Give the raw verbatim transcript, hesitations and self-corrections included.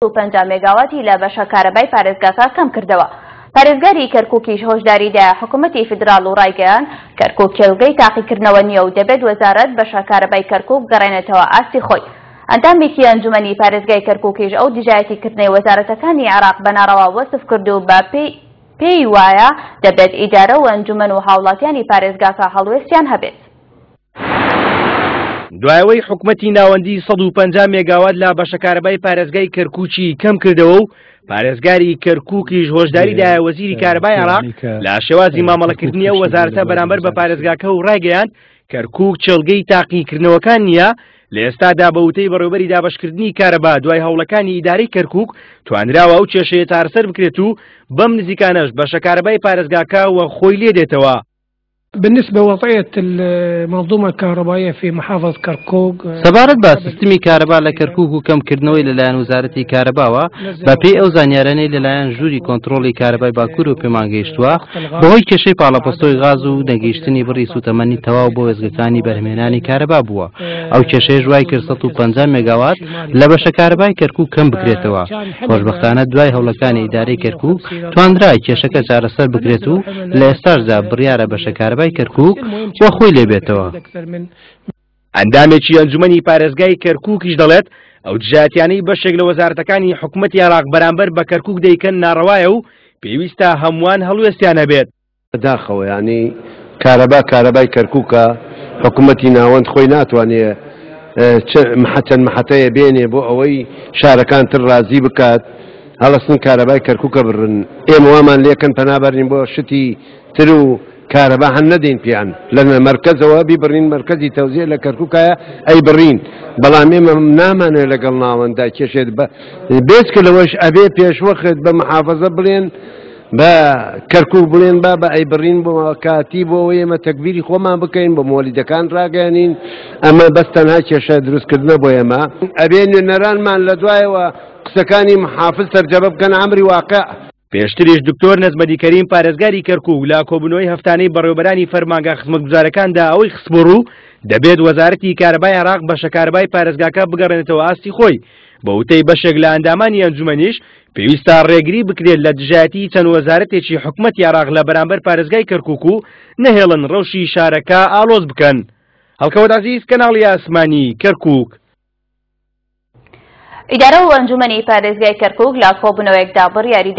و پەنجا مێگاواتی لە بەشە کارەبای پارێزگاکە کەم کردەوە. پارێزگاری کەرکووکیش هۆشداری دایە حکوومەتی فیدراڵ و ڕایگەیاند کەرکووک کێڵگەی تاقیکردنەوە نییە و دەبێت وەزارەت بەشە کارەبای کەرکووک گەڕێنێتەوە ئاستی خۆی. ئەندامێکی ئەنجومەنی پارێزگای کەرکووکیش ئەو دژایەتیکردنەی وەزارەتەکانی عێراق بە ناڕەوا وەسف کرد و بە پێی وایە دەبێت ئیدارە و ئەنجومەن و هاوڵاتیانی پارێزگاکە هەڵوێستیان هەبێت. دوایەوەی حکومەتی ناوەندی سەد و پەنجا مێگاوات لە بەشە کارەبای پارێزگای کەرکووکی کەم کردەوە و پارێزگاری کەرکووکیش هۆشداری دایە وەزیری کارەبای عێراق لە شێوازی مامەڵەکردنی ئەو وەزارەتە بەرامبەر بە پارێزگاکە و ڕایگەیاند کەرکووک کێڵگەی تاقیکردنەوەکان نییە. لە ئێستادا بە وتەی بەڕێوەبەری دابەشکردنی کارەبا دوای هەوڵەکانی ئیدارەی کەرکووک توانراوە ئەو کێشەیە چارەسەر بکرێت و بەم نزیکانەش بەشە کارەبای پارێزگاکە وە خۆی لێ دێتەوە. بالنسبة وضعية المنظومة الكهربائية في محافظة كركوك، سەبارەت بە سیستمی کارەبا لە کەرکووک و کەمکردنەوەی لەلایەن وەزارەتی کارەباوە، بەپێی ئەو زانیارانەی لەلایەن ژووری کۆنترۆڵی کارەبای باکوور و پێمان گەیشتووە، بەهۆی کێشەی پاڵەپەستۆی غاز و نەگەیشتنی بڕی سوتەمەنی تەواو بۆ وێستگەکانی بەرهەمهێنانی کارەبا بووە. ئەو کێشەیەش وای کرد سەد و پەنجا مێگاوات لە بەشە کارەبای کەرکووک کەم بکرێتەوە. خۆشبەختانە دوای هەوڵەکانی ئیدارەی کەرکووک توانرا کێشەکە چارەسەر بکرێت و لە ئێستاشدا بڕیارە بەشە کارەبای کەرکووک وە خۆی لێبێتەوە. ئەندامێکی ئەنجومەنی پارێزگای کەرکووکیش دەڵێت ئەو دژایەتیانەی بەشێک لە وەزارەتەکانی حکوومەتی عێراق بەرامبەر بە کەرکووک دەیکەن ناڕەوایە و پێویستە هەمووان هەڵوێستیان هەبێت. بەداخەوە یعنی کارەبا کارەبای کەرکووکە، حکوومەتی ناوەند خۆی ناتوانێت چەند محەتەیە بێنێ بۆ ئەوەی شارەکان تر ڕازی بکات هەڵەسن کارەبای کەرکووکە بڕن. ئێمە وامان لێکەن پەنابەرین بۆ شتی تر و کارەبا هەن نەدەین پێیان لە مەرکەزەوە بیبڕین، مەرکەزی تەوزیع لە کەرکووکایە ئەی بڕین. بەڵام ئێمە نامانەوێت لەگەڵ ناوەندا کێشێت بێچکە لەوەش ئەبێ پێشوەخت بە محافظە بڵێن بە کەرکووک بڵێن با بە ئەی بڕین بۆ کاتی بۆ ئەوەی ئێمە تەکبیری خۆمان بکەین، بۆ مۆلیدەکان ڕاگەیانین. ئەمە بەس تەنها کێشە دروستکردنە بۆ ئێمە. ئەبێ نوێنەرانمان لە دوایەوە قسەکانی محافظ تەرجەمە بکەن ئەمری واقع. پێشتریش دکتۆر نەجمەدی کەریم پارێزگاری کەرکووک لە کۆبوونەوەی هەفتانەی بەڕێوەبەرانی فەرمانگە خزمەتگوزارەکاندا ئەوەی خستبوو ڕوو دەبێت وەزارەتی کارەبای عێراق بەشە کارەبای پارێزگاکە بگەڕێنێتەوە ئاستی خۆی. بە وتەی بەشێک لە ئەندامانی ئەنجومەنیش پێویستە ڕێگری بکرێت لە دژایەتی چەند وەزارەتێکی حکوومەتی عێراق لە بەرامبەر پارێزگای کەرکووک و نەهێڵن ڕەوشی شارەکە ئاڵۆز بکەن. هەڵکەوت عەزیز، کەناڵی ئاسمانی کەرکووک. ئیدارە و ئەنجومەنی پارێزگای کەرکووک لە کۆبوونەوەیەکدا بڕیاری